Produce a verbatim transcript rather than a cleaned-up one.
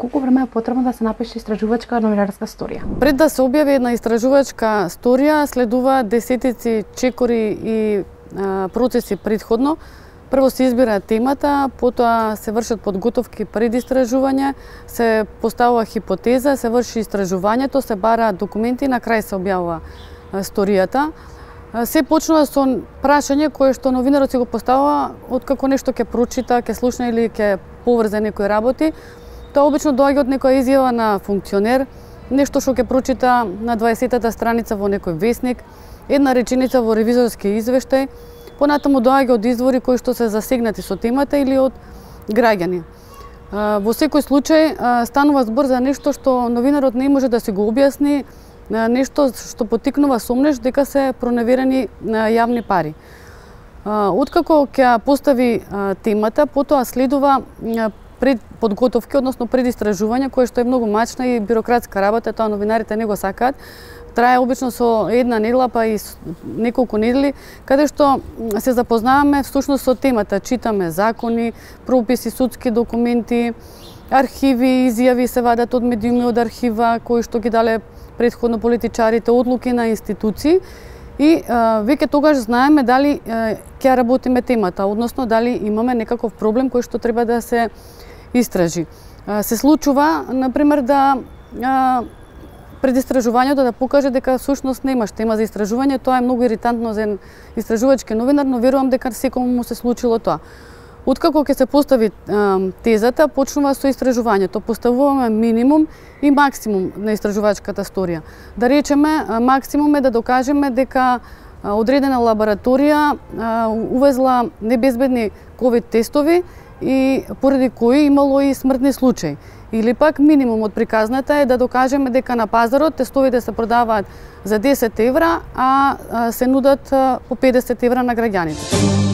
Колку време е потребно да се напише истражувачка новинарска сторија? Пред да се објави една истражувачка сторија, следува десетици чекори и а, процеси предходно. Прво се избира темата, потоа се вршат подготовки пред истражување, се поставува хипотеза, се врши истражувањето, се бара документи и на крај се објавува сторијата. Се почнува со прашање кое што новинарот си го поставува откако нешто ќе прочита, ќе слушна или ќе поврзе некои работи. Тоа обично доаѓа од некоја изјава на функционер, нешто што ќе прочита на дваесеттата страница во некој весник, една реченица во ревизорски извештај, понатаму доаѓа од извори кои што се засегнати со темата или од граѓани. Во секој случај станува збор за нешто што новинарот не може да си го објасни, нешто што поттикнува сомнеш дека се проневерени јавни пари. Откако ќе постави темата, потоа следува пред подготовки, односно пред истражување, кое што е многу мачна и бирократска работа, тоа новинарите не го сакаат. Трае обично со една недела, па и неколку недели, каде што се запознаваме всушност со темата, читаме закони, прописи, судски документи, архиви, изјави се вадат од медиуми од архива, кои што ги дале предходно политичарите, одлуки на институции и а, веќе тогаш знаеме дали а, ќе работиме темата, односно дали имаме некаков проблем кој што треба да се истражи. А, се случува, например, да а, пред истражувањето да покаже дека всушност немаш тема за истражување, тоа е многу иритантно за истражувачки новинар, но верувам дека секому му се случило тоа. Откако ќе се постави а, тезата, почнува со истражувањето. Поставуваме минимум и максимум на истражувачката сторија. Да речеме, максимум е да докажеме дека одредена лабораторија а, увезла небезбедни ковид тестови и поради кои имало и смртни случаи. Или пак минимумот при казната е да докажеме дека на пазарот тестовите се продаваат за десет евра, а се нудат по педесет евра на граѓаните.